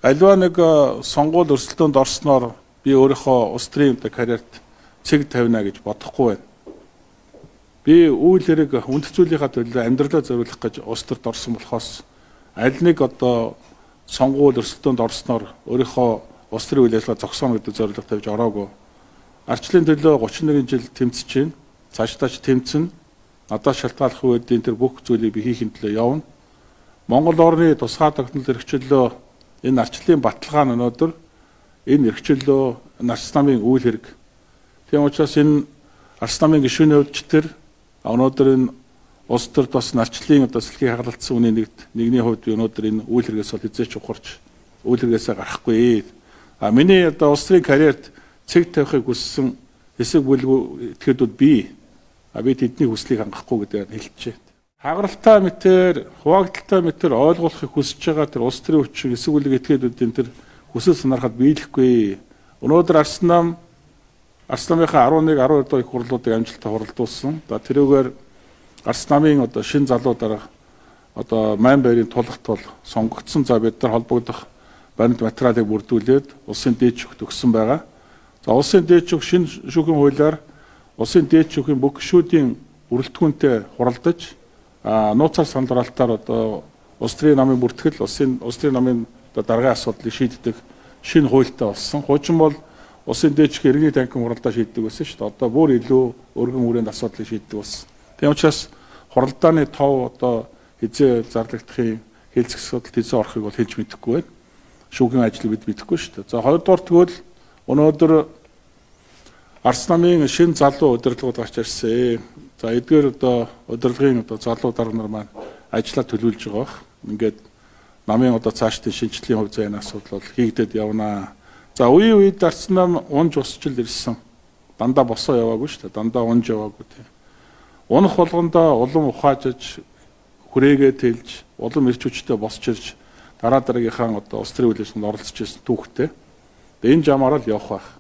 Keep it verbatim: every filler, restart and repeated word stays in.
Аливаа нэг сонгуул өрсөлдөөнд орсноор би өөрийнхөө улс төрийн карьерт цэг тавина гэж бодохгүй байна. Би үйл хэрэг үндэс зүйлийнхаа төлөө амьдралаа зориулах гэж улс төрд орсон болохоос аль нэг одоо сонгуул өрсөлдөөнд орсноор өөрийнхөө улс төрийн үйл ажиллагаа зогсооно гэдэг зорилго тавьж ороогүй. Арчлын төлөө гучин нэгэн жил тэмцэж байна. Цаашдаа ч тэмцэн. Надаас шалтгааллах үеийн тэр бүх зүйлийг би хийхин төлөө явна. Монгол орны тусгай тогтнол эрхчлөлөө энэ арчлын баталгаа нь өнөөдөр энэ эрхчлөлөө Арс намын үйл хэрэг. Тийм учраас энэ Арс намын гишүүний хувьд ч тэр өнөөдөр энэ улс төрд бас арчлын одоо сэлхий хагалцсан үний нэгд нэгний хувьд өнөөдөр энэ үйл хэрэгээс бол хязгаарч ухарч үйл хэрэгээсээ гарахгүй. А миний одоо улс төрийн карьерт цэг тавихыг хүссэн хэсэг бүлэг этгээдүүд би а би тэдний хүслийг хангахгүй гэдэг нь хэлчихэ. Хагаралтай мэтэр, хуваагдaltaй мэтэр ойлгуулахыг хүсэж байгаа тэр улс төрийн хүчин хэсэг бүлэг этгээдүүдийн тэр хүсэл санаархад биелэхгүй. Өнөөдөр Арс нам Арс намынхаа арван нэг арван хоёр дахь хурлуудыг амжилттай хуралдуулсан. За тэрүүгээр Арс намын одоо шин залуу дарга одоо майн байрын тулахт бол сонгогдсон. За бид нар холбогдох баримт материалыг бүрдүүлээд улсын дээд шүүхт өгсөн байгаа. За улсын дээд шүүх шинэ шүүхийн хуулиар улсын дээд шүүхийн бүх гишүүдийн бүрэлдэхүүнтэй хуралдаж а нууцаар сандралтаар одоо улс төрийн намын бүртгэл улсын улс төрийн намын даргын асуудлыг шийддэг шинэ хуультай болсон. Хуучин бол улсын дээд шүүх иргэний танхим хуралдаа шийддэг байсан шүү дээ. Одоо бүр илүү өргөн хүрээнд асуудлыг шийддэг болсон. Тийм учраас хуралдааны тов одоо хизээ зарлагдахын хэлцэх асуудал хизээ орохыг бол хэлж мэдэхгүй байна. Шүүхийн ажлыг бид мэдэхгүй шүү дээ. За хоёрдугаар тэгвэл өнөөдөр Арс намын шинэ залуу удирдлагууд гарч ирсэн. За эдгээр одоо удирдлагын одоо залуу дарга нар маань ажиллаа төлөвлөж байгаа бах. Ингээд намын одоо цаашдын шинжилгээний хувь заяаны асуудал бол хийгдээд явнаа. За үе үед Арс нам унж усчил ирсэн. Дандаа босоо яваагүй шүү дээ. Дандаа унж яваагүй тийм. Унах болгондоо улам ухаажиж хүрээгээ тэлж улам ирч хүчтэй босч ирж дараа дараагийнхаа одоо улс төрийн үйл ажиллагаанд оролцож ирсэн түүхтэй. Энэ жамаараа л явах байх.